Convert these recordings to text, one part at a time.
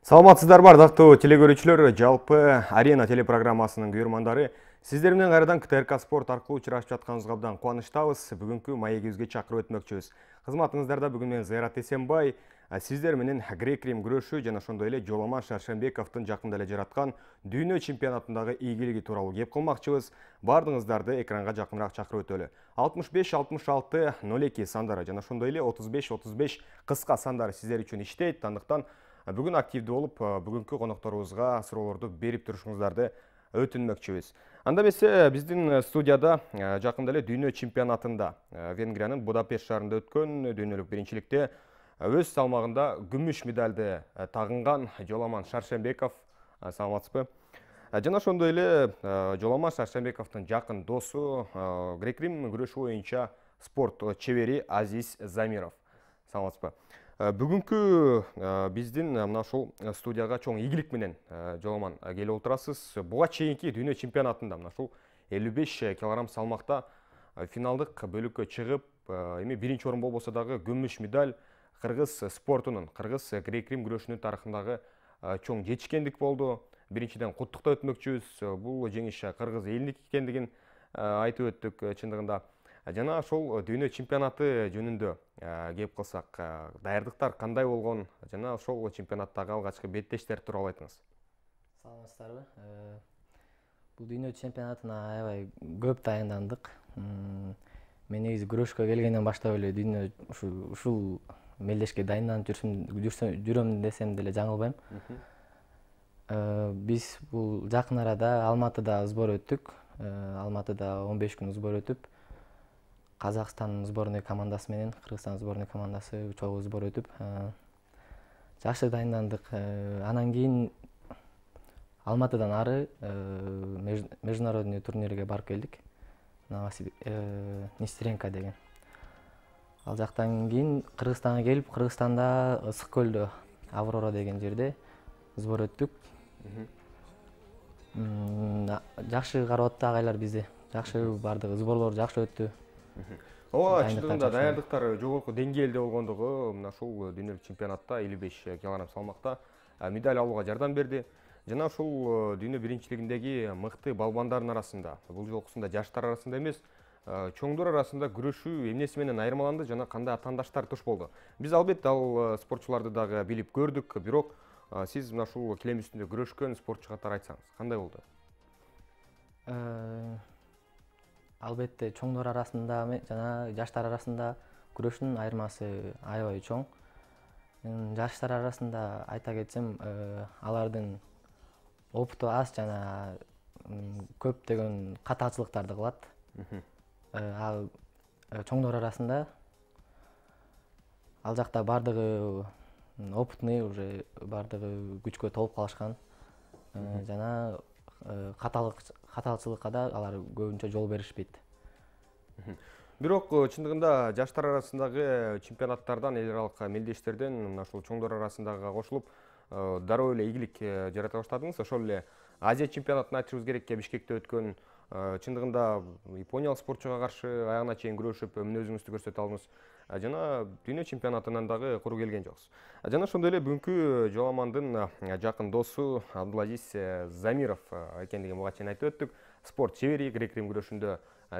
Саламатсыздарбы, ардактуу телекөрүүчүлөр, жалпы Арена телепрограммасынын көрөрмандары. Сиздер менен кайрадан КТРК спорт аркылуу учурашып жатканыбызга абдан кубанычтабыз. Бүгүнкү маегибизге чакырып өтмөкчүбүз. Кызматыңыздарда бүгүн мен Зайрат Эсенбай, сиздер менен грек-рим күрөшү жана ошондой эле Жоламан Шаршембековдун жакында эле жараткан дүйнө чемпионатындагы ийгилиги тууралуу кеп кылмакчыбыз. Бардыгыңыздарды экранга жакыныраак чакырып өтөлү. 65-66-02 сандары жана ошондой эле 35-35 кыска сандары сиздер үчүн иштейт. Андыктан бүгүн активдүү болуп, бүгүнкү конокторубузга суроолорду берип турушуңуздарды өтүнмөкчүбүз. Анда эмесе биздин студияда жакында эле дүйнө чемпионатында Венгриянын Будапешт шаарында өткөн дүйнөлүк биринчиликте өз салмагында күмүш медалды тагынган Жоламан Шаршембеков. Саламатсызбы? Жана ошондой эле Жоламан Шаршембековдун жакын досу, грек-рим күрөшү боюнча спорт чебери Азиз Замиров. Саламатсызбы? Бүгүнкү биздин мына ушул студияга чоң ийгилик менен Жоламан келип отурасыз. Буга чейинки дүйнө чемпионатында мына ушул 55 килограмм салмакта финалдык бөлүккө чыгып, эми биринчи орун болбосо дагы күмүш медаль кыргыз спортунун, кыргыз грек-рим күрөшүнүн тарыхындагы чоң жетишкендик болду. Биринчиден куттуктап өтмөкчүбүз. Бул жеңиш кыргыз элиники экендигин айтып өттүк чындыгында. Жана ошол дүйнө чемпионаты жөнүндө кеп калсак, даярдыктар кандай болгон жана ошол чемпионаттагы алгачкы беттештер тууралуу айтыңыз. Саламатсыздарбы? Бул дүйнө чемпионатына аябай көп дайындандык. Мен негизи күрөшкө келгенден баштап эле дүйнө ушул мелдешке дайынданып жүрөм десем деле жаңылбайм. Биз бул жакын арада Алматыда сбор өттүк. Алматыда 15 күн сбор өтүп, Казакстан сборный командасы менен Кыргызстан сборный командасы чогуу сбор өтүп, жакшы дайындандык. Анан кийин Алматыдан ары международный турнирге барып келдик. Нестеренко деген. Ал жактан кийин Кыргызстанга келип, Кыргызстанда Ысык көлдө Аврора деген жерде сбор өттүк. Жакшы карап атты агайлар бизди. Жакшы бардыгы, сборлор жакшы өттү. Ооба, чындыгында даярдыктар жогорку деңгээлде болгондугу мына ушул дүйнөлүк чемпионатта 55 килограмм салмакта медаль алууга жардам берди. Жана ушул дүйнө биринчилигиндеги мыкты балбандардын арасында, бул жолкусунда жаштар арасында эмес, чоңдор арасында күрөшүү эмнеси менен айырмаланды жана кандай атаандаштар туш болду? Биз албетте ал спортчуларды дагы билип көрдүк, бирок сиз мына ушул килем үстүндө күрөшкөн спортчу катары айтсаңыз, кандай болду? Албетте чоңдор арасында жана жаштар арасында күрөшүнүн айырмасы аябай чоң. Жаштар арасында айта кетсем, алардын опыту аз жана көптөгөн катаачылыктарды кылат. Ал чоңдор арасында ал жакта бардыгы опытный, уже бардыгы күчкө толуп калышкан жана катаалчылыкка да алар көбүнчө жол беришпейт. Бирок чындыгында жаштар арасындагы чемпионаттардан, эл аралык мелдештерден мына ушул чоңдор арасындагы кошулуп, дароо эле ийгилик жарата баштадыңыз. Ошол эле Азия чемпионатын айтышыбыз керек, Бишкекте өткөн. Чындыгында япониялык спортчуга каршы аягына чейин күрөшүп, мүнөзүңүздү көрсөтө алдыңыз. Жана дүйнө чемпионатынан дагы куру келген жоксуз. Жана ошондой эле бүгүнкү Жоламандын жакын досу Абдулазиз Замиров экендигин буга чейин айтып өттүк. Спорт чебери, грек-рим күрөшүндө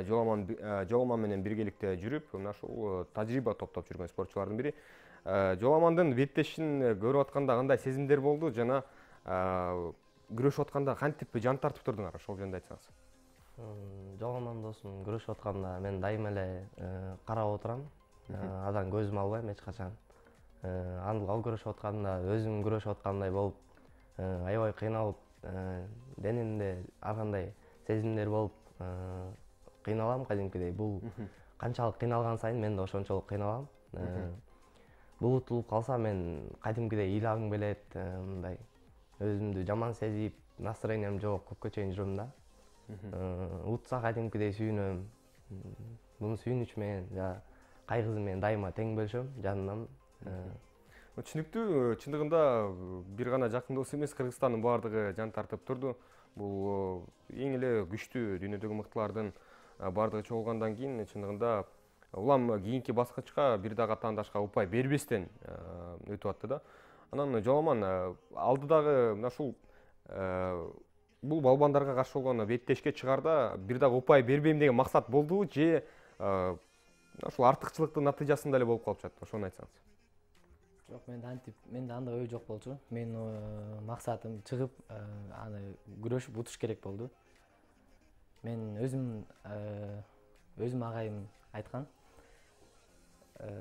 Жоламан менен биргеликте жүрүп, мына ушул тажрыйба топтоп жүргөн спортчулардын бири. Жоламандын беттешин көрүп атканда кандай сезимдер болду жана күрөшүп атканда кантип жан тартып турдуңар, ошол жөнүндө айтсаңыз. Жоламан досум күрөшүп атканда мен дайыма эле карап отурам. Адан көзүм албайм эч качан. Ал күрөшүп атканда өзүм күрөшүп аткандай болуп, аябай кыйналып, денемде ар кандай сезимдер болуп кыйналам кадимкидей. Бул канчалык кыйналган сайын мен да ошончолук кыйналам. Бул утулуп калса мен кадимкидей ыйлагым келет, мындай өзүмдү жаман сезип, настроениям жок, көпкө чейин жүрөм да. Утса кадимкидей сүйүнөм. Муну сүйүнүч менен жана кайгысы менен дайыма тең бөлүшөм, жанымдан. Түшүнүктүү, чындыгында бир гана жакын дос эмес, Кыргызстандын баардыгы жан тартып турду. Бул эң эле күчтүү дүйнөдөгү мыктылардын баардыгы чогулгандан кийин чындыгында улам кийинки баскычка бир дагы атаандашка упай бербестен өтүп атты да. Анан Жоламан, алдыдагы мына ушул бул балбандарга каршы болгон беттешке чыгаарда бир дагы упай бербейм деген максат болдубу же ушул артыкчылыктын натыйжасында эле болуп калып жатты? Ошону айтсаңыз. Жок, менде андай ой жок болчу. Менин максатым чыгып аны күрөшүп утуш керек болду. Мен өзүм агайым айткан.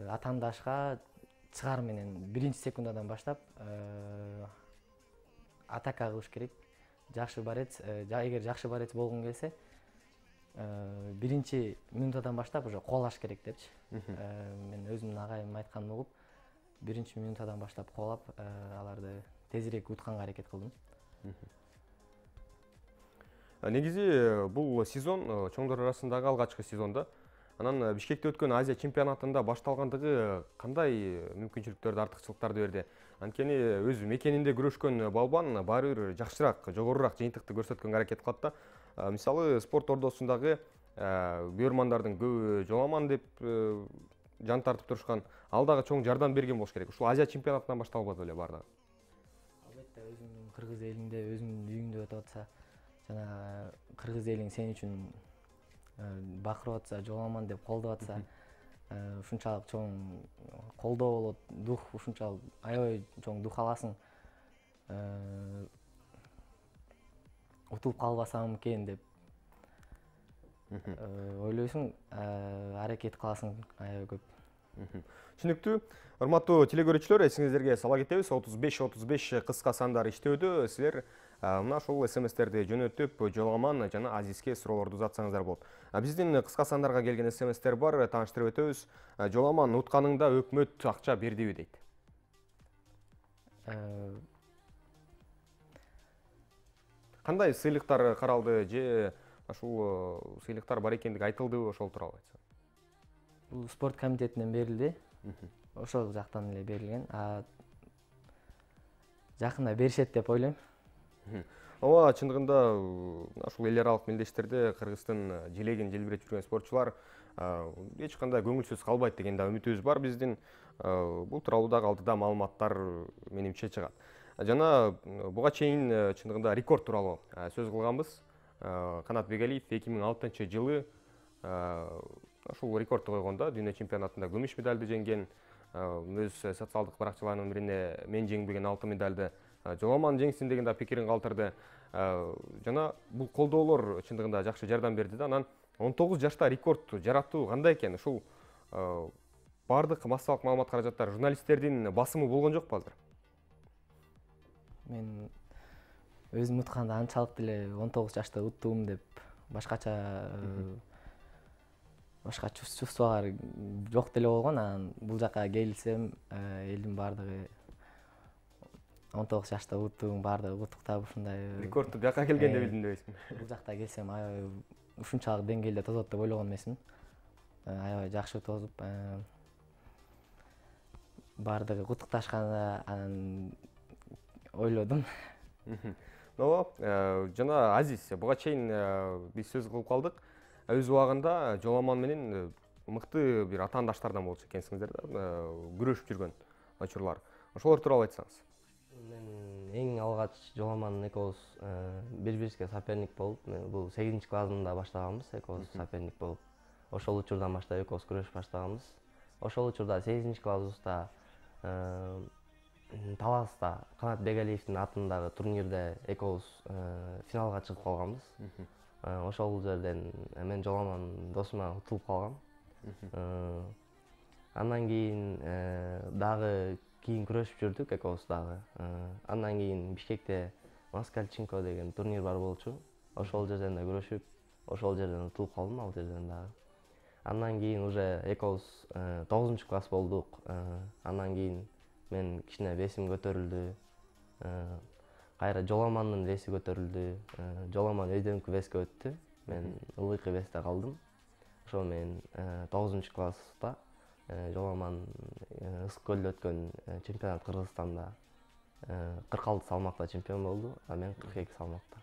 Атамдашка чыгаар менен биринчи секундадан баштап атака кылыш керек. Жакшы борец, эгер жакшы борец болгуң келсе, биринчи минутадан баштап уже коолаш керек депчи. Мен өзүмдүн агайым айтканын угуп, биринчи минутадан баштап коолап, аларды тезирээк утканга аракет кылдым. Негизи бул сезон чоңдор арасындагы алгачкы сезон да. Анан Бишкекте өткөн Азия чемпионатында башталгандыгы кандай мүмкүнчүлүктөрдү, артыкчылыктарды берди? Анткени өз мекенинде күрөшкөн балбан баары бир жакшыраак, жогорураак жыйынтыкты көрсөткөнгө аракет кылат да. Мисалы, спорт ордосундагы көрөрмандардын көбү Жоламан деп жан тартып турушкан, ал дагы чоң жардам берген болуш керек. Ушул Азия чемпионатынан башталбады беле баардыгы? Албетте, өзүңдүн кыргыз элиңде, өзүңдүн үйүңдө өтүп атса, жана кыргыз элиң сен үчүн бакырып атса, Жоламан деп колдоп атса, ушунчалык чоң колдоо болот, дух ушунчалык аябай чоң дух аласың. Утулуп калбасам экен деп ойлойсуң, аракет кыласың аябай көп. Түшүнүктүү. Урматтуу телекөрүүчүлөр, эсиңиздерге сала кетебиз. 35-35 кыска сандар иштөөдө. Силер мына ушул СМСтерди жөнөтүп, Жоламан жана Азизге суроолорду узатсаңыздар болот. Биздин кыска сандарга келген СМСтер бар, тааныштырып өтөбүз. Жоламан утканыңда өкмөт акча бердиби дейт. Кандай сыйлыктар каралды же ушул сыйлыктар бар экендиги айтылдыбы, ошол тууралуу айтсаң? Бул спорт комитетинен берилди. Ошол жактан эле берилген. Жакында беришет деп ойлойм. Ооба, чындыгында ушул эл аралык мелдештерде Кыргыздын желегин желбиретип жүргөн спортчулар эч кандай көңүлсүз калбайт деген да үмүтүбүз бар биздин. Бул тууралуу дагы алдыда маалыматтар менимче чыгат. Жана буга чейин чындыгында рекорд тууралуу сөз кылганбыз. Канат Бегалиев 2006-жылы ушул рекордду койгондо дүйнө чемпионатында күмүш медалды жеңген. Өз социалдык баракчаларынын бирине мен жеңбеген алтын медалды Жоламан жеңсин деген да пикирин калтырды. Жана бул колдоолор чындыгында жакшы жардам берди да. Анан 19 жашта рекорд жаратуу кандай экен? Ушул бардык массалык маалымат каражаттар журналисттердин басымы болгон жокпу азыр? Мен өзүм утканда анчалык деле 19 жашта уттум деп башкача чувстволор жок деле болгон. Анан бул жака келсем, элдин бардыгы 19 жашта уттуң, бардыгы куттуктап ушундай. Рекордду бияка келгенде билдим дебейсиңби? Бул жакта келсем аябай ушунчалык деңгээлде тозот деп ойлогон эмесмин. Аябай жакшы тозуп, бардыгы куттукташканда анан ойлодум. Ооба, жана Азиз, буга чейин биз сөз кылып калдык. Өз убагында Жоламан менен мыкты бир атаандаштардан болчу экенсиңиздер да, күрөшүп жүргөн учурлар. Ошолор тууралуу айтсаңыз. Мен эң алгач Жоламан экөөбүз бири-бирибизге соперник болуп, бул 8-чи классында баштаганбыз, экөөбүз соперник болуп. Ошол учурдан баштап экөөбүз күрөшүп баштаганбыз. Ошол учурда 8-чи классыбызда Таласта Канат Бегалиевдин атындагы турнирде экөөбүз финалга чыгып калганбыз. Ошол жерден мен Жоламан досума утулуп калгам. Андан кийин дагы күрөшүп жүрдүк экөөбүз дагы. Андан кийин Бишкекте Москальченко деген турнир бар болчу. Ошол жерден да күрөшүп, ошол жерден утулуп калдым ал жерден дагы. Андан кийин уже экөөбүз 9-чу класс болдук. Андан кийин мен кичине весим көтөрүлдү. Кайра Жоламандын веси көтөрүлдү. Жоламан өйдөнкү веске өттү. Мен ылдыйкы весте калдым. Ошо мен 9-чу класста Жоламан Ысык көлдө өткөн чемпионат Кыргызстанда 46 салмакта чемпион болду, а мен 42 салмакта.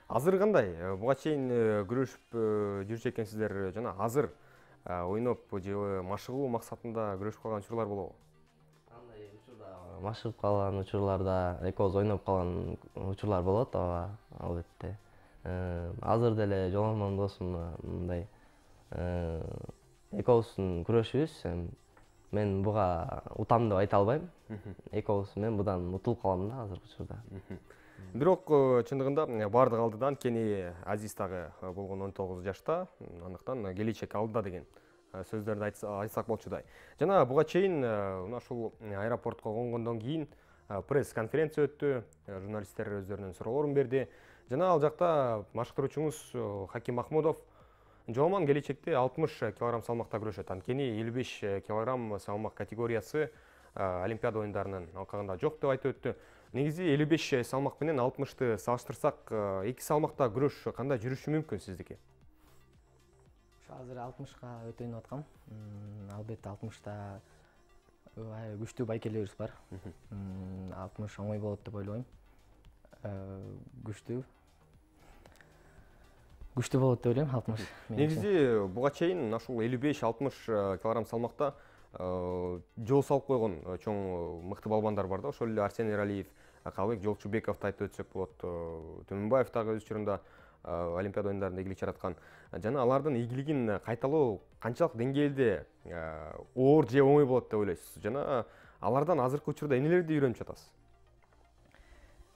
Азыр кандай? Буга чейин күрөшүп жүрчү экенсиздер, жана азыр ойноп же машыгуу максатында күрөшүп калган учурлар болобу? Андай учурда машыгып калган учурларда экөөбүз ойноп калган учурлар болот, ооба, албетте. Азыр деле жоломон досум мындай экөөбүздүн күрөшүбүз, мен буга утам деп айта албайм. Экөөбүз мен будан утулуп калам да азыркы учурда. Бирок чындыгында бардык алдыда анткени Азиз дагы болгон 19 жашта, андыктан келечек алдыда деген сөздөрдү айтсак болчудай. Жана буга чейин ушул аэропортко конгондон кийин пресс-конференция өттү, журналисттер өздөрүнүн суроолорун берди. Жана ал жакта машыктыруучуңуз Хаким Махмудов жоломан келечекте 60 кг салмакта күрөшөт. Анткени 55 кг салмак категориясы Олимпиада оюндарынын алкагында жок деп айтып өттү. Негизи 55 салмак менен 60-ты салыштырсак, эки салмакта күрөш кандай жүрүшү мүмкүн сиздики? Азыр 60-ка өтөнүп аткам. Албетте 60-та күчтүү байкелерибиз бар. 60 оңой болот деп ойлойм. Күчтүү болот деп ойлойм 60. Негизи буга чейин ушул 55-60 кг салмакта жол салып койгон чоң мыкты балбандар бар да. Ошол эле Арсен Эралиев, Калыбек Жолчубековду айтып өтсөк болот. Төмөнбаев дагы өз учурунда Олимпиада оюндарында ийгилик жараткан. Жана алардын ийгилигин кайталоо канчалык деңгээлде оор же оңой болот деп ойлойсуз? Жана алардан азыркы учурда эмнелерди үйрөнүп жатасыз?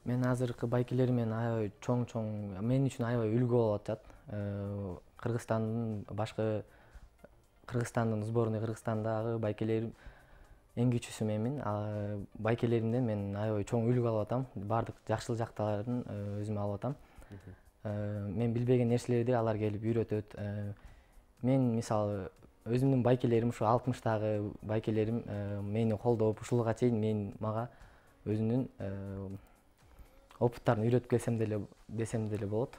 Мен азыркы байкелермен аябай чоң мен үчүн аябай үлгү болуп атат. Кыргызстандын сборный Кыргызстандагы байкелер эң кичүүсү менмин. Байкелеримден мен аябай чоң үлгү алып атам. Бардык жакшылык жактарын өзүмө алып атам. Мен билбеген нерселерди алар келип үйрөтөт. Мен мисалы өзүмдүн байкелерим ушу 60-тагы байкелерим мени колдоп, ушулга чейин мага өзүнүн опыттарын үйрөтүп келсем деле болот.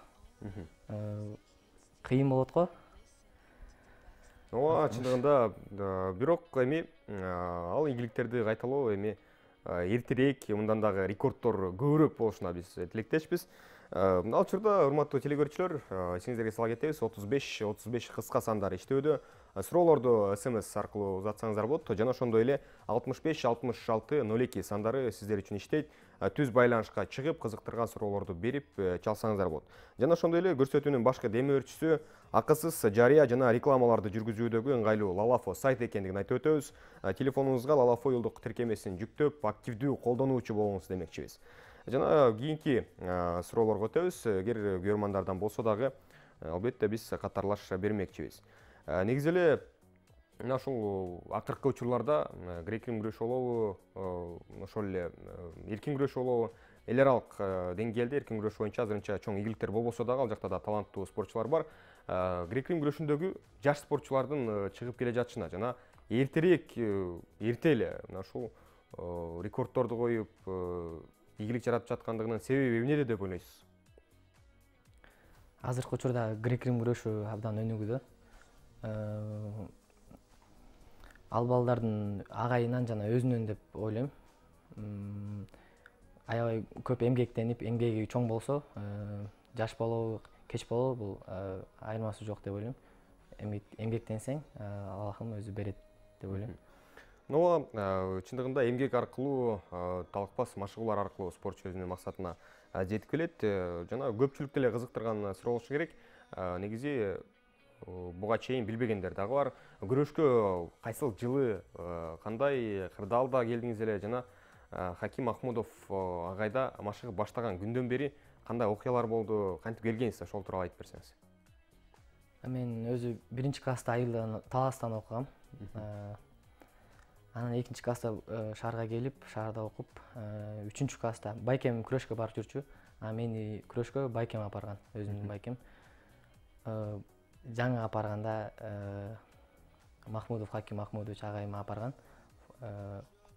Кыйын болот го. Ооба, чындыгында бирок эми ал ийгиликтерди кайталоо эми эртерээк, мындан дагы рекорддор көбүрөөк болушуна биз тилектешпиз. Ал учурда урматтуу телегөрүүчүлөр, эсиңиздерге сала кетебиз, 35 кыска сандары иштөөдө. Суроолорду SMS аркылуу узатсаңыздар болот. Жана ошондой эле 65-66-02 сандары сиздер үчүн иштейт. Түз байланышка чыгып, кызыктырган суроолорду берип чалсаңыздар болот. Жана ошондой эле көрсөтүүнүн башкы демөөрчүсү акысыз жарыя жана рекламаларды жүргүзүүдөгү ыңгайлуу Lalafo сайт экендигин айтып өтөбүз. Телефонуңузга Lalafo жылдык тиркемесин жүктөп, активдүү колдонуучу болуңуз демекчибиз. Жана кийинки суроолорго өтөбүз. Эгер көрөрмандардан болсо дагы, албетте биз катарлаш бермекчибиз. Негизи эле ушул акыркы учурларда грек-рим күрөшү болобу, ошол эле эркин күрөш болобу, эл аралык деңгээлде эркин күрөш боюнча азырынча чоң ийгиликтер болбосо дагы ал жакта да таланттуу спортчулар бар. Грек-рим күрөшүндөгү жаш спортчулардын чыгып келе жатышына жана эрте эле ушул рекорддорду коюп ийгилик жаратып жаткандыгынын себеби эмнеде деп ойлойсуз? Азыркы учурда грек-рим күрөшү абдан өнүгүүдө. Ал балдардын агайынан жана өзүнөн деп ойлойм. Аябай көп эмгектенип, эмгеги чоң болсо, жаш болобу, кеч болобу, бул айырмасы жок деп ойлойм. Эмгектенсең, Аллахым өзү берет деп ойлойм. Ооба, чындыгында эмгек аркылуу, талыкпас машыгуулар аркылуу спортчу өзүнүн максатына жетип келет. Жана көпчүлүктү эле кызыктырган суроо болушу керек. Негизи буга чейин билбегендер дагы бар. Күрөшкө кайсыл жылы, кандай кырдаалда келдиңиз эле жана Хаким Махмудов агайда машыгып баштаган күндөн бери кандай окуялар болду, кантип келгенсиз, ошол тууралуу айтып берсеңиз. Мен өзү 1-класста айылдан Таластан окугам. Анан 2-класста шаарга келип, шаарда окуп, 3-класста байкем күрөшкө барып жүрчү. Мени күрөшкө байкем алып барган, өзүмдүн байкем. Жаңы алып барганда Махмудов Хаким Махмудович агайым алып барган.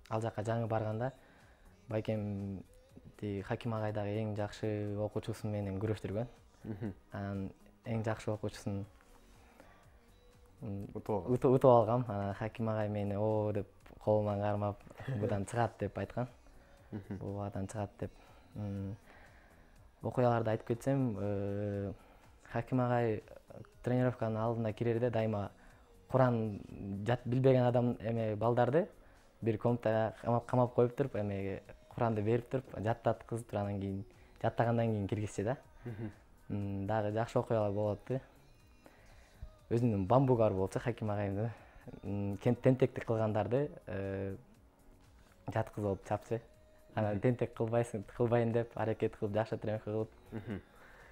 Ал жака жаңы барганда байкемди Хаким агай дагы эң жакшы окуучусу менен күрөштүргөн. Анан эң жакшы окуучусун утуп алгам. Хаким агай мени о деп колуман кармап, будан чыгат деп айткан. Бугадан чыгат деп. Окуяларды айтып кетсем, Хаким агай тренировканын алдына кирерде дайыма Куран билбеген адам балдарды бир комнатага камап коюп туруп, эмеге Куранды берип туруп, жаттаткызып туруп, анан кийин жаттагандан кийин киргизчү да. Дагы жакшы окуялар болот да. Өзүнүн бамбугары болчу Хаким агайымдын. Тентектик кылгандарды жаткызып алып чапчы. Анан тентек кылбайын деп аракет кылып, жакшы тренировка кылып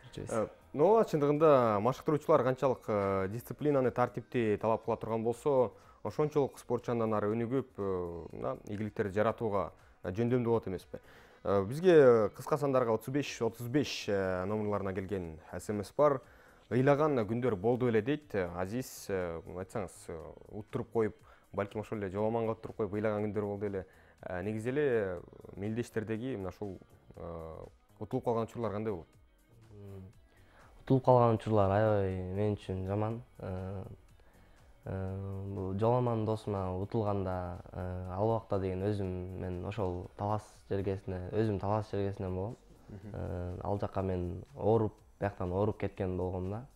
жүрчүбүз. Но чындыгында машыктыруучулар канчалык дисциплинаны, тартипти талап кыла турган болсо, ошончолук спортчу андан ары өнүгүп, ийгиликтерди жаратууга жөндөмдүү болот эмеспи? Бизге кыска сандарга 35 номерларына келген СМС бар. Ыйлаган күндөр болду эле дейт. Азиз, айтсаңыз, уттуруп коюп, балким ошол эле жоламанга уттуруп коюп ыйлаган күндөр болду эле. Негизи эле мелдештердеги мына ушул утулуп калган учурлар кандай болот? Утулуп калган учурлар аябай мен үчүн жаман. Бул жоламан досума утулганда ал убакта деген мен ошол талас жергесинен болом. Ал жака мен ооруп, бияктан ооруп кеткен болгом да.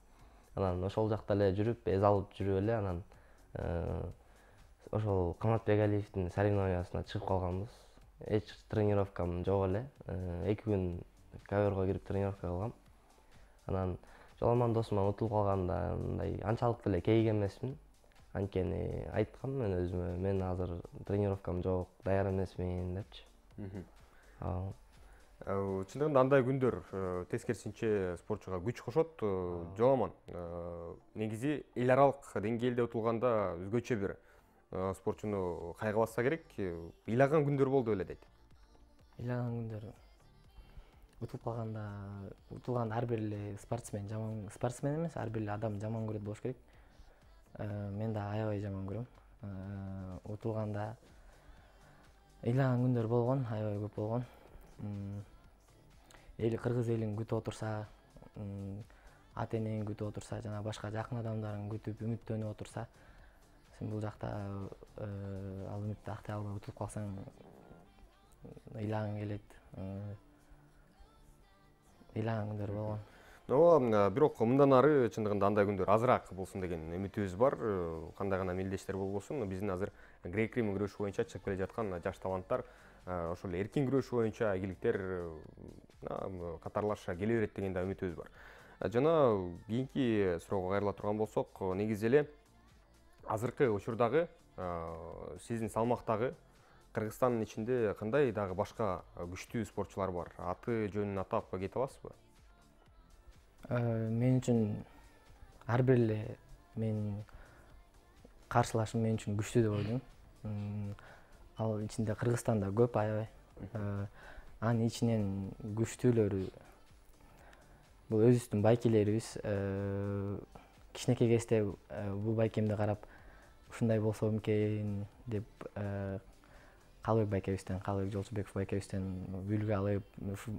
Анан ошол жакта эле жүрүп, эз алып жүрүп эле анан ошол Каматбек Алиевдин соревнованиясына чыгып калганбыз. Эч тренировкам жок эле. 2 күн ковёрго кирип тренировка кылгам. Анан жоламан досума утулуп калганда мындай анчалык деле кейиген эмесмин. Анткени айткам мен өзүмө, мен азыр тренировкам жок, даяр эмесмин депчи. Чындыгында андай күндөр тескерисинче спортчуга күч кошот. Жоламан, негизи эл аралык деңгээлде утулганда өзгөчө бир спортчуну кайгы басса керек. Ыйлаган күндөр болду эле дейт. Ыйлаган күндөр утулганда ар бир эле спортсмен эмес, ар бир эле адам жаман көрөт болуш керек. Мен да аябай жаман көрөм. Утулганда ыйлаган күндөр болгон, аябай көп болгон. Кыргыз элин күтүп отурса, ата энең күтүп отурса, жана башка жакын адамдарың күтүп, үмүттөнүп отурса, сен бул жакта ал үмүттү актай албай утулуп калсаң, ыйлагың келет. Ыйлаган күндөр болгон. Бирок мындан ары чындыгында андай күндөр азыраак болсун деген үмүтүбүз бар. Кандай гана мелдештер болбосун, биздин азыр грек-рим күрөшү боюнча чыгып келе жаткан жаш таланттар ошол эркин күрөш боюнча ийгиликтер катарлаша келе берет деген да үмүтүбүз бар. Жана кийинки суроого кайрыла турган болсок, негизи эле азыркы учурдагы сиздин салмактагы Кыргызстандын ичинде кандай дагы башка күчтүү спортчулар бар? Аты жөнүн атап кете аласызбы? Мен үчүн ар бир эле менин каршылашым мен үчүн күчтүү деп ойлойм. Ал ичинде Кыргызстанда көп аябай. Анын ичинен күчтүүлөрү бул өзүбүздүн байкелерибиз. Кичинекей кезде бул байкемди карап ушундай болсо экен деп Калыбек байкебизден, Калыбек Жолчубеков байкебизден үлгү алып,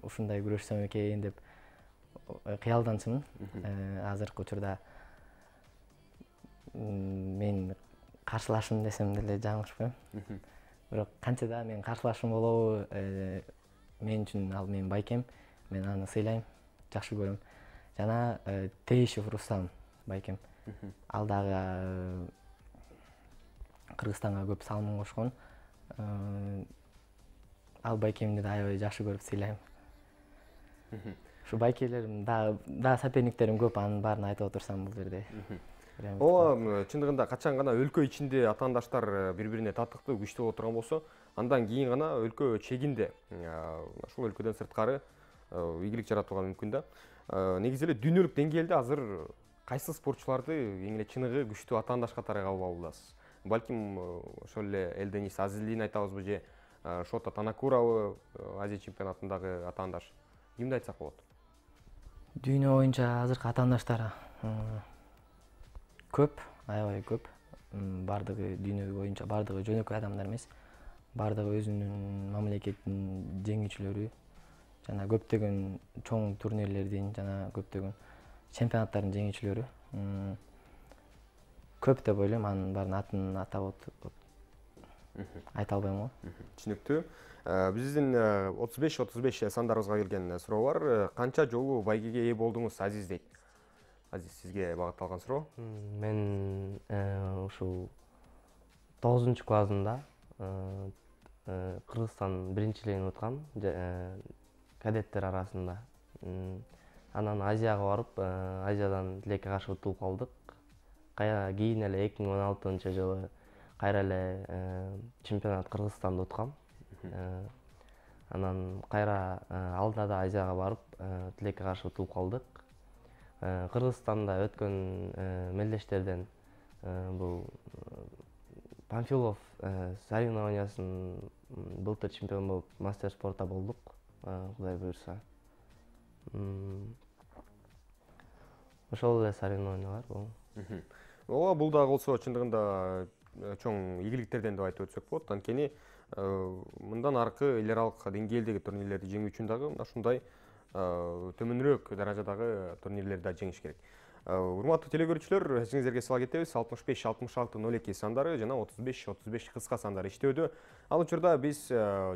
ушундай күрөшсөм экен деп кыялданчумун. Азыркы учурда мен каршылашым десем деле жаңылышпайм. Бирок канча да мен каршылашым болобу, мен үчүн ал менин байкем, мен аны сыйлайм, жакшы көрөм. Жана Теишев Рустам байкем. Ал дагы Кыргызстанга көп салымын кошкон. Ал байкемди да аябай жакшы көрүп сыйлайм. Ушу байкелерим да соперниктерим көп, анын баарын айтып отурсам бул жерде. Чындыгында качан гана өлкө ичинде атаандаштар бири-бирине татыктуу, күчтүү боло турган болсо, андан кийин гана өлкө чегинде, ошол өлкөдөн сырткары ийгилик жаратууга мүмкүн да. Негизи эле дүйнөлүк деңгээлде азыр кайсы спортчуларды эң эле чыныгы күчтүү атаандаш катары кабыл алуудасыз? Балким ошол эле Элденис Азиздин айтабызбы же Шота Танакурабы, Азия чемпионатындагы атаандаш? Кимди айтсак болот? Дүйнө боюнча азыркы атаандаштар көп, аябай көп. Бардыгы дүйнө боюнча бардыгы жөнөкөй адамдар эмес. Бардыгы өзүнүн мамлекетинин жеңүүчүлөрү жана көптөгөн чоң турнирлердин жана көптөгөн чемпионаттардын жеңүүчүлөрү. Көп деп ойлойм, анын баарын атын атап айта албайм го. Түшүнүктүү. Биздин 35 сандарыбызга келген суроо бар. Канча жолу байгеге ээ болдуңуз, Азиз дейт. Азиз, сизге багытталган суроо. Мен ушул 9 классында Кыргызстан биринчилигин уткам кадеттер арасында. Анан Азияга барып, Азиядан тилекке каршы утулуп калдык. Кийин эле 2016-жылы кайра эле чемпионат Кыргызстанда уткам. Анан кайра алда да Азияга барып, тилекке каршы утулуп калдык. Кыргызстанда өткөн мелдештерден бул Панфилов соревнованиясын былтыр чемпион болуп, мастер спорта болдук, Кудай буйрса. Ошол эле соревнованиялар бул. Ооба, бул дагы болсо чындыгында чоң ийгиликтерден деп айтып өтсөк болот. Анткени мындан аркы эл аралык деңгээлдеги турнирлерди жеңүү үчүн дагы ушундай төмөнүрөөк даражадагы турнирлерди да жеңиш керек. Урматтуу телекөрүүчүлөр, эсиңиздерге сала кетебиз, 65-66-02 сандары жана 35-35 кыска сандары иштөөдө. Ал учурда биз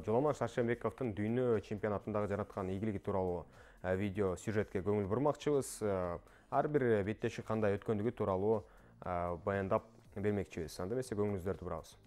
Жоламан Шаршенбековдун дүйнө чемпионатындагы жараткан ийгилиги тууралуу видео сюжетке көңүл бурмакчыбыз. Ар бир беттеши кандай өткөндүгү тууралуу баяндап бермекчибиз. Анда эмесе көңүлүңүздөрдү бурабыз.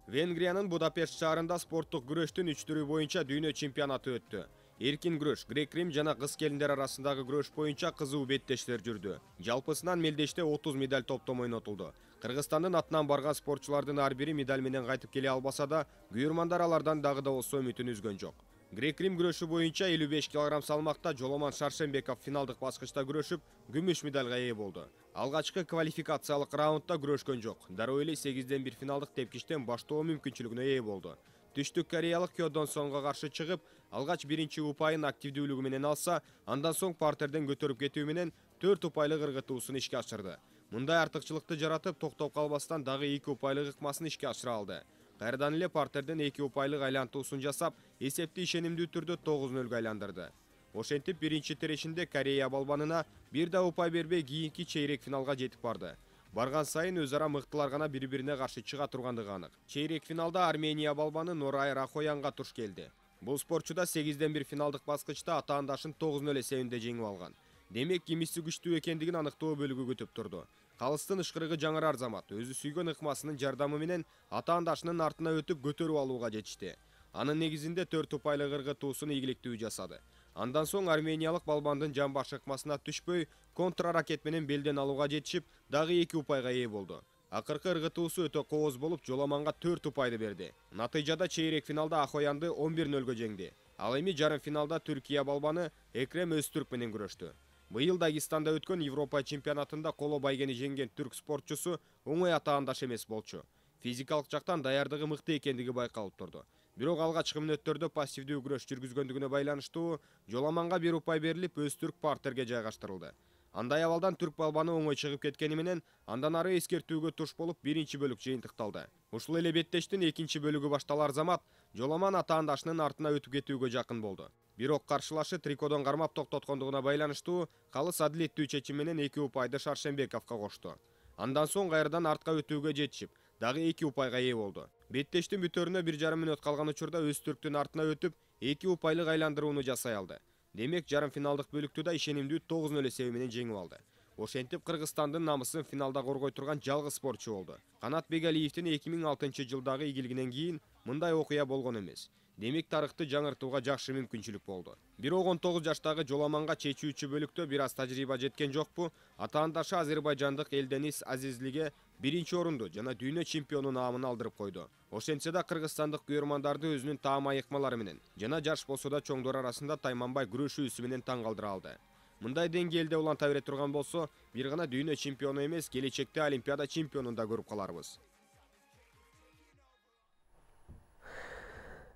Венгриянын Будапешт шаарында спорттук күрөштүн 3 түрү боюнча дүйнө чемпионаты өттү. Эркин күрөш, грек-рим жана кыз-келиндер арасындагы күрөш боюнча кызуу беттештер жүрдү. Жалпысынан мелдеште 30 медаль топтом ойнотулду. Кыргызстандын атынан барган спортчулардын ар бири медаль менен кайтып келе албаса да, күйөрмандар алардан дагы да болсо үмүтүн үзгөн жок. Грек-рим күрөшү боюнча 55 кг салмакта Жоламан Шаршенбеков финалдык баскычта күрөшүп, күмүш медальга ээ болду. Алгачкы квалификациялык раундда күрөшкөн жок. Дароо эле 8-1 финалдык тепкичтен баштоо мүмкүнчүлүгүнө ээ болду. Түштүк кореялык Кё Дон Сонго каршы чыгып, алгач биринчи упайын активдүүлүгү менен алса, андан соң партерден көтөрүп кетүү менен 4 упайлык ыргытуусун ишке ашырды. Мындай артыкчылыкты жаратып, токтоп калбастан дагы 2 упайлык ыкмасын ишке ашыра алды. Кайрадан эле партерден 2 упайлык айлантуусун жасап, эсепти ишенимдүү түрдө 9-0 айландырды. Ошентип биринчи терешинде Корея балбанына бир да упай бербей кийинки чейрек финалга жетип барды. Барган сайын өз ара мыктылар гана бири-бирине каршы чыга тургандыгы анык. Чейрек финалда Армения балбаны Норай Рахоянга туш келди. Бул спортчу да 8-1 финалдык баскычта атаандашын 9-0 эсебинде жеңип алган. Демек, кимиси күчтүү экендигин аныктоо бөлүгү күтүп турду. Калыстын ышкырыгы жаңырар замат өзү сүйгөн ыкмасынын жардамы менен атаандашынын артына өтүп көтөрүп алууга жетишти. Анын негизинде 4 упайлык ыргытуусун ийгиликтүү жасады. Андан соң армениялык балбандын жамбаш ыкмасына түшпөй, контраракет менен белден алууга жетишип, дагы 2 упайга ээ болду. Акыркы ыргытуусу өтө кооз болуп, Жоламанга 4 упайды берди. Натыйжада чейрек финалда Ахоянды 11-0 жеңди. Ал эми жарым финалда Түркия балбаны Экрем Өзтүрк менен күрөштү. Быйыл Дагестанда өткөн Европа чемпионатында коло байгени жеңген түрк спортчусу оңой атаандаш эмес болчу. Физикалык жактан даярдыгы мыкты экендиги байкалып турду. Бирок алгачкы мүнөттөрдө пассивдүү күрөш жүргүзгөндүгүнө байланыштуу Жоламанга 1 упай берилип, Өзтүрк партерге жайгаштырылды. Андай абалдан түрк балбаны оңой чыгып кеткени менен, андан ары эскертүүгө туш болуп, биринчи бөлүк жыйынтыкталды. Ушул эле беттештин экинчи бөлүгү башталар замат Жоламан атаандашынын артына өтүп кетүүгө жакын болду. Бирок каршылашы трикодон кармап токтоткондугуна байланыштуу калыс адилеттүү чечим менен 2 упайды Шаршенбековго кошту. Андан соң кайрадан артка өтүүгө жетишип, дагы 2 упайга ээ болду. Беттештин бүтөрүнө 1,5 мүнөт калган учурда Өзтүрктүн артына өтүп, 2 упайлык айландырууну жасай алды. Демек, жарым финалдык бөлүктү да ишенимдүү 9-0 эсеби менен жеңип алды. Ошентип, Кыргызстандын намысын финалда коргой турган жалгыз спортчу болду. Канат Бегалиевдин 2006-жылдагы ийгилигинен кийин мындай окуя болгон эмес. Демек, тарыхты жаңыртууга жакшы мүмкүнчүлүк болду. Бирок 19 жаштагы Жоламанга чечүүчү бөлүктө бир аз тажрыйба жеткен жокпу? Атаандашы азербайжандык Элденис Азизлиге биринчи орунду жана дүйнө чемпиону наамын алдырып койду. Ошентсе да кыргызстандык күйөрмандарды өзүнүн таам айыкмалары менен жана жаш болсо да чоңдор арасында тайманбай күрөшүүсү менен таң калтыра алды. Мындай деңгээлде уланта бере турган болсо, бир гана дүйнө чемпиону эмес, келечекте Олимпиада чемпионун да көрүп каларбыз.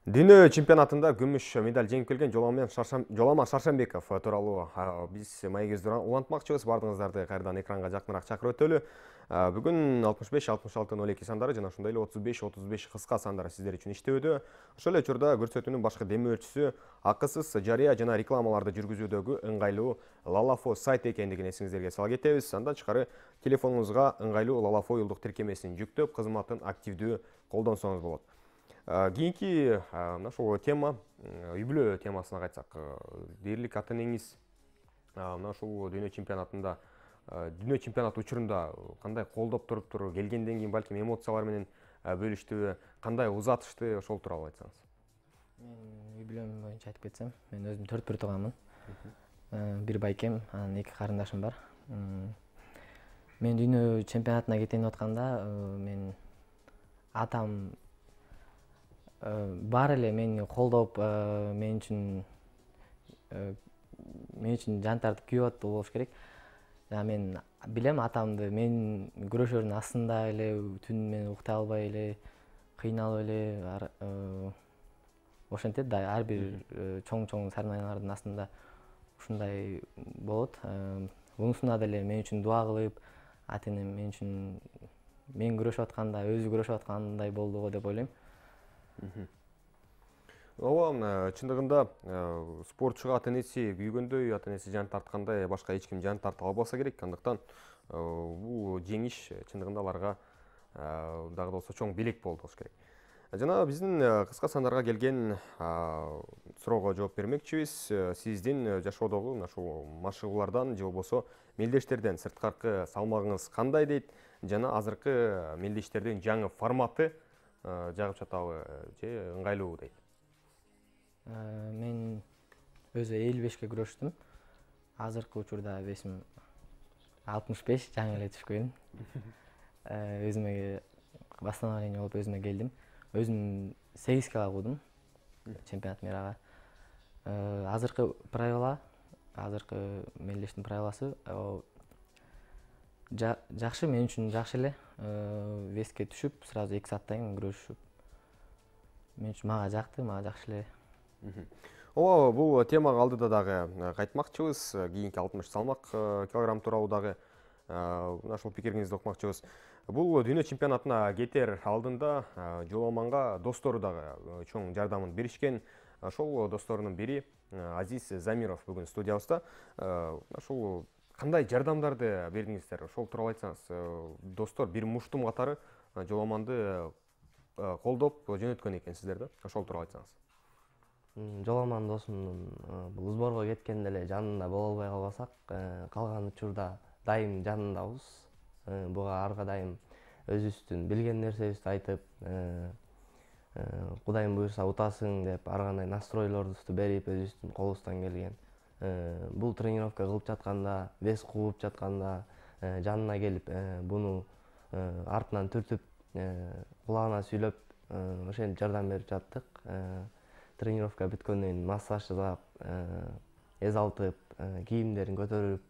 Дүйнө чемпионатында күмүш медаль жеңип келген Жоламан Шаршенбеков тууралуу биз маегибизди улантмакчыбыз. Бардыгыңыздарды кайрадан экранга жакыныраак чакырып өтөлү. Бүгүн 65-66-02 сандары жана ошондой эле 35-35 кыска сандары сиздер үчүн иштөөдө. Ошол эле учурда көрсөтүүнүн башкы демөөрчүсү акысыз жарыя жана рекламаларды жүргүзүүдөгү ыңгайлуу Лалафо сайт экендигин эсиңиздерге сала кетебиз. Андан тышкары телефонуңузга ыңгайлуу Лалафо уюлдук тиркемесин жүктөп, кызматын активдүү колдонсоңуз болот. Кийинки ушул тема үй бүлө темасына кайтсак, дээрлик ата энеңиз ушул дүйнө чемпионатында дүйнө чемпионаты учурунда кандай колдоп туруптур, келгенден кийин балким эмоциялар менен бөлүштүбү, кандай узатышты, ошол тууралуу айтсаңыз. Мен үй бүлөм боюнча айтып кетсем, мен өзүм 4 тууганмын. Бир байкем, анан 2 карындашым бар. Мен дүйнө чемпионатына кетейин деп атканда, мен атам баары эле мени колдоп, мен үчүн жан тартып күйүп атты болуш керек. Мен билем атамды, мен күрөшөрдүн астында эле түнү менен уктай албай эле, кыйналып эле ошентет да, ар бир чоң соревнованиялардын астында ушундай болот. Унусунда деле мен үчүн дуа кылып, ата-энем мен үчүн мен күрөшүп атканда өзү күрөшүп аткандай болду го деп ойлойм. Ооба, чындыгында спортчуга ата-энеси күйгөндөй, ата-энеси жан тарткандай башка эч ким жан тарта албаса керек. Андыктан бул жеңиш чындыгында аларга дагы да болсо чоң белек болду болуш керек. Жана биздин кыска сандарга келген суроого жооп бермекчибиз. Сиздин жашоодогу ушул машыгуулардан же болбосо мелдештерден сырткаркы салмагыңыз кандай дейт, жана азыркы мелдештердин жаңы форматы жагып жатабы же ыңгайлуу дейт. Мен өзү 55 күрөштүм. Азыркы учурда весим 65, жаңы эле түшкөн. Өзүмө восстановление болуп өзүмө келдим. Өзүм 8 кг куудум чемпионат мирага. Азыркы правила, азыркы мелдештин правиласы жакшы, мен үчүн жакшы эле. Веске түшүп, сразу 2 сааттан кийин күрөшүп, мен үчүн мага жакты, мага жакшы эле. Ооба, бул темага алдыда дагы кайтмакчыбыз. Кийинки 60 салмак килограмм тууралуу дагы ушул пикириңизди окумакчыбыз. Бул дүйнө чемпионатына кетер алдында жоламанга достору дагы чоң жардамын беришкен. Ошол досторунун бири Азиз Замиров бүгүн студиябызда. Ошол кандай жардамдарды бердиңиздер? Ошол тууралуу айтсаңыз. Достор бир муштум катары жоламанды колдоп жөнөткөн экенсиздер да. Ошол тууралуу айтсаңыз. Жоламан досумдун бул сборго кеткенде эле жанында боло албай калбасак, калган учурда дайым жанындабыз. Буга арга дайым өзүбүздүн билген нерсебизди айтып, Кудайым буйрса утасың деп ар кандай настройлорубузду берип, өзүбүздүн колубуздан келген. Бул тренировка кылып жатканда, вес кууп жатканда жанына келип, буну артынан түртүп, кулагына сүйлөп, ошентип жардам берип жаттык. Тренировка бүткөндөн кийин массаж жасап, эз алтып, кийимдерин көтөрүп,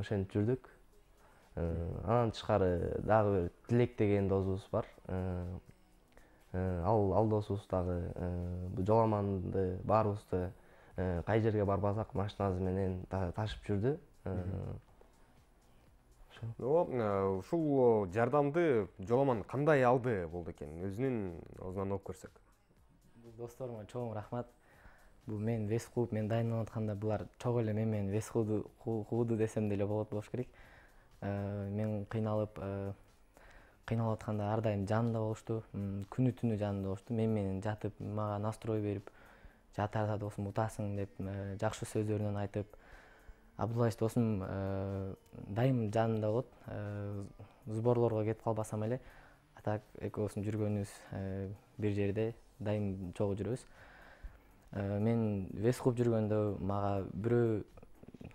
ошентип жүрдүк. Анан тышкары дагы бир Тилек деген досубуз бар. Ал досубуз дагы жоламанды баарыбызды кай жерге барбасак машинасы менен ташып жүрдү. Ушул жардамды жоламан кандай алды болду экен? Өзүнүн оозунан угуп көрсөк. Досторума чоң рахмат. Бул мен вес кууп, мен дайындалып атканда булар чогуу эле мен менен вес кууду десем деле болот болуш керек. Мен кыйналып атканда ар дайым жанымда болушту. Күнү түнү жанымда болушту. Мен менен жатып, мага настрой берип, жатарда досум утасың деп жакшы сөздөрүн айтып. Абдуллаевич досум дайым жанымда болот. Сборлорго кетип калбасам эле, атак экөөбүздүн жүргөнүбүз бир жерде дайым чогуу жүрөбүз. Мен вес кууп жүргөндө мага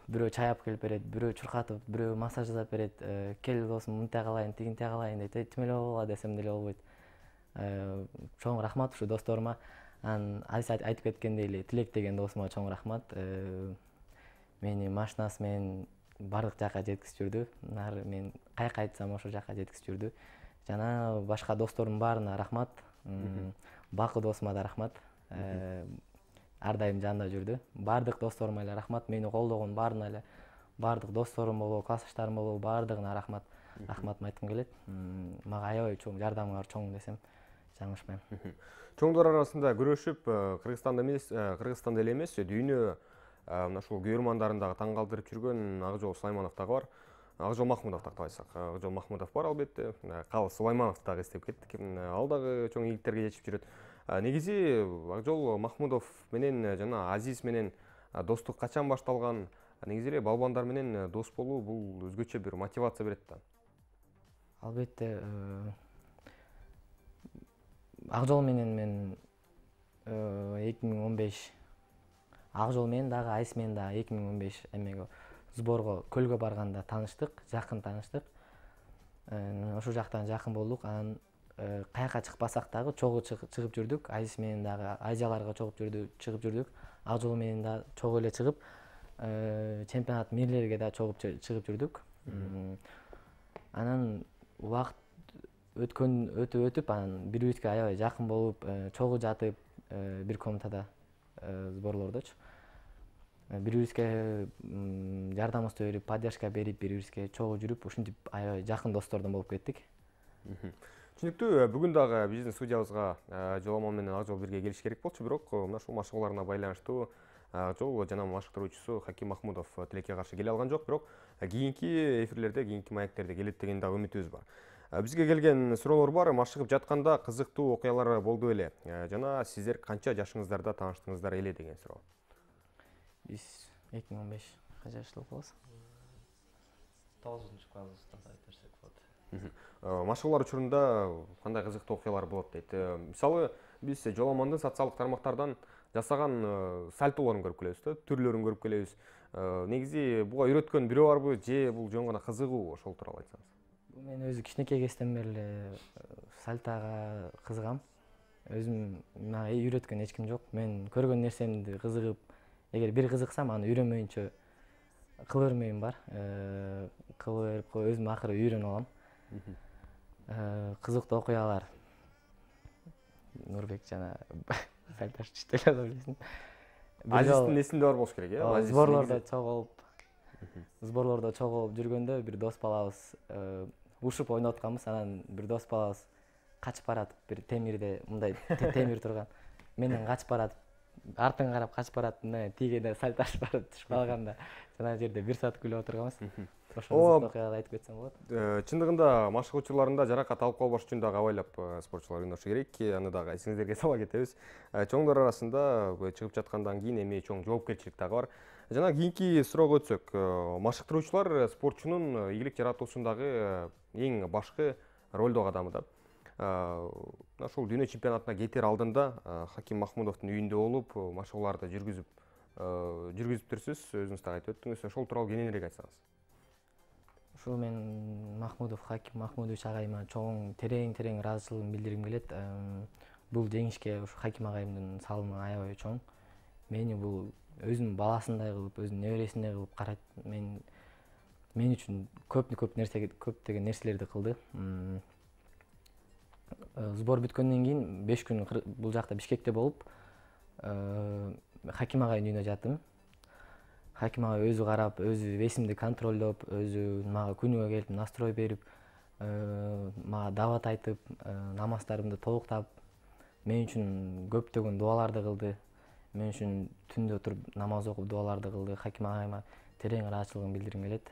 бирөө чай алып келип берет, бирөө чуркатып, бирөө массаж жасап берет. Кел досум, мынтип кылайын, тигинтип кылайын дейт. Тим эле болгула десем деле болбойт. Чоң рахмат ушу досторума. Анан Азиз айтып кеткендей эле Тилек деген досума чоң рахмат. Мени машинасы менен бардык жака жеткизип жүрдү. Мен каяка айтсам ошол жака жеткизип жүрдү. Жана башка досторумдун баарына рахмат. Бакы досума да рахмат. Ар дайым жанында жүрдү. Бардык досторума эле рахмат. Мени колдогон баарына эле, бардык досторум болобу, классташтарым болобу, бардыгына рахмат. Рахматымды айткым келет. Мага аябай чоң жардамыңар чоң десем жаңылышпайм. Чоңдор арасында күрөшүп, Кыргызстанда эле эмес, дүйнө ушул күйөрмандарын дагы таң калтырып жүргөн Акжол Сулайманов дагы бар. Акжол Махмудов дагы айтсак. Акжол Махмудов бар албетте. Кал Сулаймановду дагы эстеп кеттик. Ал дагы чоң ийгиликтерге жетип жүрөт. Негизи Акжол Махмудов менен жана Азиз менен достук качан башталган? Негизи эле балбандар менен дос болуу бул өзгөчө бир мотивация берет да. Албетте, ак жол менен мен 2015 ак жол менен дагы айс менен дагы 2015 эмеге сборго көлгө барганда тааныштык, жакын тааныштык. Ошол жактан жакын болдук. Анан каяка чыкпасак дагы чогуу чыгып жүрдүк. Айс менен дагы Азияларга чыгып жүрдүк. Ак жол менен да чогуу эле чыгып, чемпионат мирлерге да чогуу чыгып жүрдүк. Анан убакыт өтүп, анан бири-бирибизге аябай жакын болуп, чогуу жатып, бир комнатада сборлордочу. Бири-бирибизге жардамыбызды берип, поддержка берип, бири-бирибизге чогуу жүрүп, ушинтип аябай жакын достордон болуп кеттик. Түшүнүктүү. Бүгүн дагы биздин студиябызга жоламан менен ак жол бирге келиш керек болчу, бирок мына ушул машыгууларына байланыштуу ак жол жана машыктыруучусу Хаким Махмудов тилекке каршы келе алган жок, бирок кийинки эфирлерде, кийинки маектерде келет деген дагы үмүтүбүз бар. Бизге келген суроолор бар. Машыгып жатканда кызыктуу окуялар болду беле? Жана сиздер канча жашыңыздарда тааныштыңыздар эле деген суроо. Биз 2015 канча жашта болобуз? 9-класста айтырсак болот. Машыгуулар учурунда кандай кызыктуу окуялар болот дейт. Мисалы, биз жоламандын социалдык тармактардан жасаган сальтолорун көрүп келебиз да, түрлөрүн көрүп келебиз. Негизи буга үйрөткөн бирөө барбы же бул жөн гана кызыгуу, ошол тууралуу айтсаңыз? Мен өзү кичинекей кезден бери эле сальтага кызыгам. Өзүм мага үйрөткөн эч ким жок. Мен көргөн нерсемди кызыгып, эгер бир кызыксам, аны үйрөнмөйүнчө кыла бермейм бар. Кыла берип өзүм акыры үйрөнүп алам. Кызыктуу окуялар. Нурбек жана Сальташ түштөлө билесиң. Азиздин эсинде бар болуш керек, э? Сборлордо чогуу жүргөндө бир дос балабыз ушуп ойноп атканбыз. Анан бир дос балабыз качып баратып, бир темирде мындай темир турган. Менден качып баратып, артын карап качып баратып, мына тигеде Сальташ барып түшүп калганда, жана жерде бир саат күлүп отурганбыз. Ошол окуяларды айтып кетсем болот. Чындыгында машыгуучуларында жаракат алып калбаш үчүн дагы абайлап спортчулар ойношу керек. Аны дагы эсиңиздерге сала кетебиз. Чоңдор арасында чыгып жаткандан кийин эми чоң жоопкерчилик дагы бар. Жана кийинки суроого өтсөк, машыктыруучулар спортчунун ийгилик жаратуусундагы эң башкы ролдогу адамы да. Ошол дүйнө чемпионатына кетер алдында Хаким Махмудовдун үйүндө болуп, машыгууларды жүргүзүптүрсүз, өзүңүз дагы айтып өттүңүз. Ошол тууралуу кененирээк айтсаңыз. Ушул мен Хаким Махмудович агайыма чоң терең ыраазычылыгымды билдиргим келет. Бул жеңишке ушу Хаким агайымдын салымы аябай чоң. Мени бул өзүнүн баласындай кылып, өзүнүн небересиндей кылып карайт. Мен үчүн көптөгөн нерселерди кылды. Сбор бүткөндөн кийин 5 күн бул жакта Бишкекте болуп, Хаким агайдын үйүнө жаттым. Хаким агай өзү карап, өзү весимди контролдоп, өзү мага күнүгө келип настрой берип, мага дават айтып, намаздарымды толуктап, мен үчүн көптөгөн дуаларды кылды. Мен үчүн түндө туруп намаз окуп дуаларды кылды. Хаким агайыма терең ыраазычылыгымды билдиргим келет.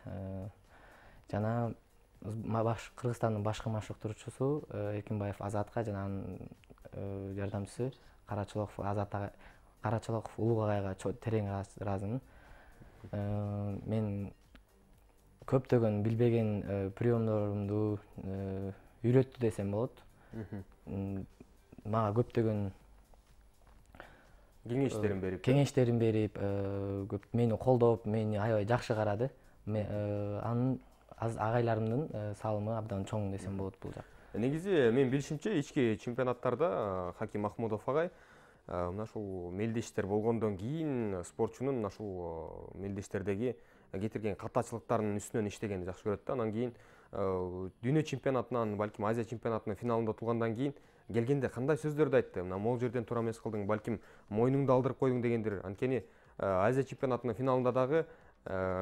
Жана Кыргызстандын башкы машыктыруучусу Эркинбаев Азатка жана анын жардамчысы Карачолоков Улук агайга терең ыраазымын. Мен көптөгөн билбеген приемдорумду үйрөттү десем болот. Мага көптөгөн кеңештерин берип, мени колдоп, мени аябай жакшы карады. Анын агайларымдын салымы абдан чоң десем болот бул жак. Негизи мен билишимче ички чемпионаттарда Хаким Махмудов агай мына ушул мелдештер болгондон кийин спортчунун мына ушул мелдештердеги кетирген катачылыктарынын үстүнөн иштегенди жакшы көрөт да. Анан кийин дүйнө чемпионатынан, балким Азия чемпионатынын финалында отургандан кийин келгенде кандай сөздөрдү айтты? Мына могул жерден туура эмес кылдың, балким мойнуңду алдырып койдуң дегендир. Анткени Азия чемпионатынын финалында дагы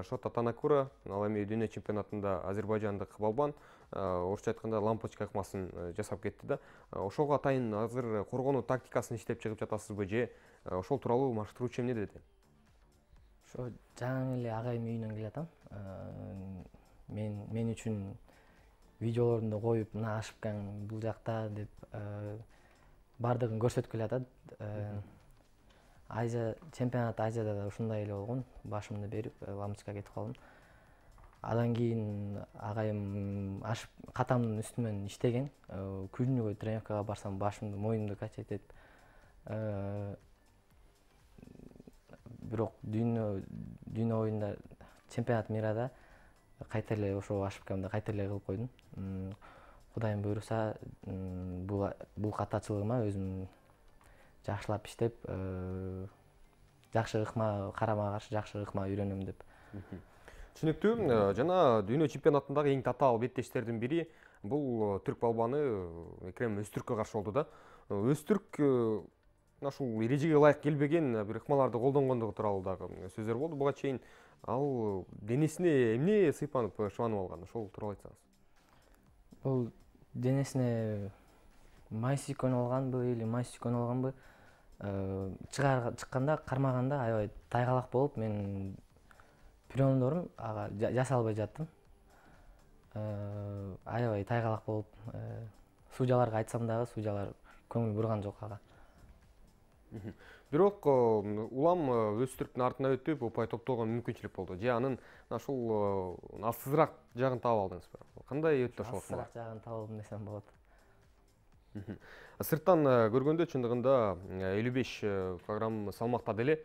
Шота Танакура, ал эми дүйнө чемпионатында азербайжандык балбан, орусча айтканда лампочка ыкмасын жасап кетти да. Ошого атайын азыр коргонуу тактикасын иштеп чыгып жатасызбы же ошол тууралуу машыктыруучу эмне деди? Ошо жаңы эле агайымдын үйүнөн келатам. Мен үчүн видеолорунду коюп, мына ошибкаң бул жакта деп бардыгын көрсөтүп келатат. Азия чемпионат Азияда да ушундай эле болгон. Башымды берип Ламчка кетип калдым. Адан кийин агайым ашып катамдын үстүмөн иштеген. Күнүгө тренировкага барсам башымды, моюмду качать этип, бирок дүйнө оюнда чемпионат мирада кайта эле ошо ошибкамды кайта эле кылып койдум. Кудайым буйруса, бул катачылыгыма өзүм жакшылап иштеп, жакшы ыкма, карама каршы жакшы ыкма үйрөнөм деп. Түшүнүктүү. Жана дүйнө чемпионатындагы эң татаал беттештердин бири бул түрк балбаны Экрем Өзтүрккө каршы болду да. Өзтүрк ушул эрежеге ылайык келбеген бир ыкмаларды колдонгондугу тууралуу дагы сөздөр болду. Буга чейин ал денесине эмне сыйпанып шыбанып алган? Ошол тууралуу айтсаңыз. Бул денесине май сүйкөнүп алганбы или май сүйкөнүп алганбы? Чыкканда, кармаганда аябай тайгалак болуп, мен приемдорум ага жаса албай жаттым. Аябай тайгалак болуп, судьяларга айтсам дагы судьялар көңүл бурган жок ага. Бирок улам Өзтүрктүн артына өтүп, упай топтоого мүмкүнчүлүк болду. Же анын ушул алсызыраак жагын таап алдыңызбы? Кандай өттү ошол? Алсызыраак жагын таап алдым десем болот. Сырттан көргөндө чындыгында 55 килограмм салмакта деле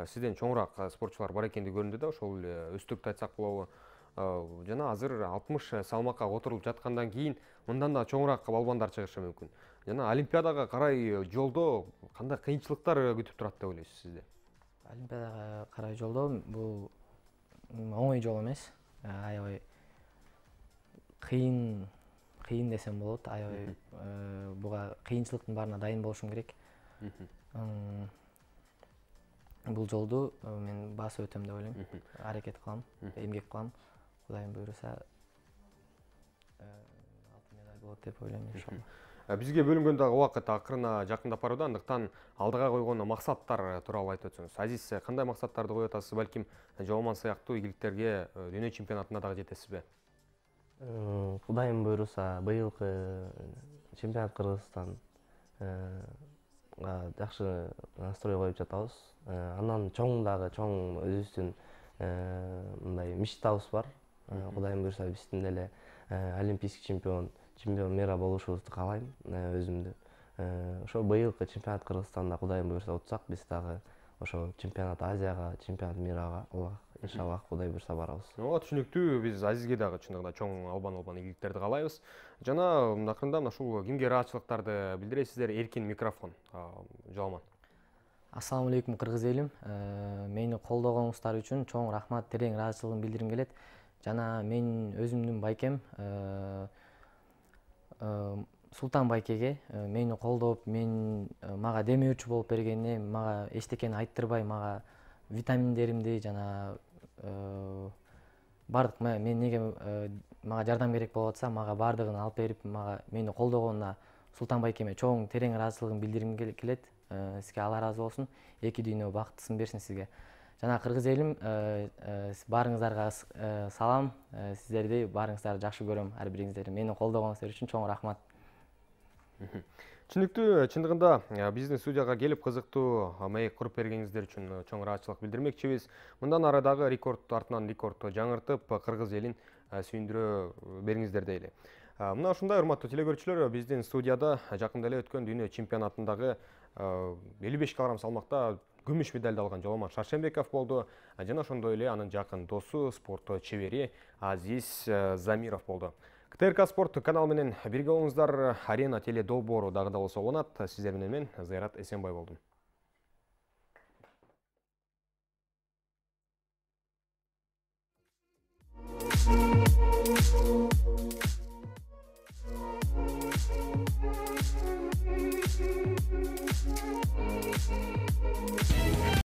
сизден чоңураак спортчулар бар экенди көрүндү да, ошол Өзтүрктү айтсак болобу. Жана азыр 60 салмакка отурулуп жаткандан кийин мындан да чоңураак балбандар чыгышы мүмкүн. Жана Олимпиадага карай жолдо кандай кыйынчылыктар күтүп турат деп ойлойсуз сизде? Олимпиадага карай жолдо бул оңой жол эмес. Аябай кыйын десем болот. Аябай буга кыйынчылыктын баарына дайын болушум керек. Бул жолду мен басып өтөм деп ойлойм. Аракет кылам, эмгек кылам. Кудайым буйруса алтын медаль болот деп ойлойм иншалла. Бизге бөлүнгөн дагы убакыт акырына жакындап барууда, андыктан алдыга койгон максаттар тууралуу айтып өтсөңүз. Азиз, кандай максаттарды коюп атасыз? Балким Жооман сыяктуу ийгиликтерге дүйнө чемпионатында дагы жетесизби? Кудайым буйруса, быйылкы чемпионат Кыргызстанга жакшы настрой коюп жатабыз. Андан чоң өзүбүздүн мындай мечтабыз бар. Кудайым буйруса, биздин деле олимпийский чемпион мира болушубузду каалайм өзүмдү. Ошо быйылкы чемпионат Кыргызстанда Кудайым буйруса утсак, биз дагы ошо чемпионат Азияга, чемпионат мирага иншаллах Кудай буйруса барабыз. Ооба, түшүнүктүү. Биз Азизге дагы чындыгында чоң албан ийгиликтерди каалайбыз. Жана акырында ушул кимге ыраазычылыктарды билдиресиздер? Эркин микрофон. Жооман. Ассаламу алейкум кыргыз элим. Мени колдогонуңуздар үчүн чоң рахмат, терең ыраазычылыгымды билдиргим келет. Жана мен өзүмдүн байкем Султан байкеге мени колдоп, мага демөөрчү болуп бергенине, мага эчтекени айттырбай, мага витаминдеримди жана бардык мага жардам керек болуп атса, мага бардыгын алып берип, мени колдогонуна Султан байкеме чоң терең ыраазычылыгымды билдиргим келет. Сизге Алла ыраазы болсун. Эки дүйнө бактысын берсин сизге. Жана кыргыз элим, баарыңыздарга салам. Сиздерди баарыңыздарды жакшы көрөм, ар бириңиздерди. Мени колдогонуңуздар үчүн чоң рахмат. Түшүнүктүү. Чындыгында биздин студияга келип кызыктуу маек куруп бергениңиздер үчүн чоң ыраазычылык билдирмекчибиз. Мындан ары дагы рекорд артынан рекорд жаңыртып, кыргыз элин сүйүндүрө бериңиздер дейли. Мына ушундай урматтуу телекөрүүчүлөр, биздин студияда жакында эле өткөн дүйнө чемпионатындагы 55 килограмм салмакта күмүш медальды алган Жооман Шаршембеков болду. Жана ошондой эле анын жакын досу, спорт чебери Азиз Замиров болду. КТРК спорт каналы менен бирге болуңуздар. Арена теле долбоору дагы да болсо уланат. Сиздер менен мен Зайрат Эсенбай болдум.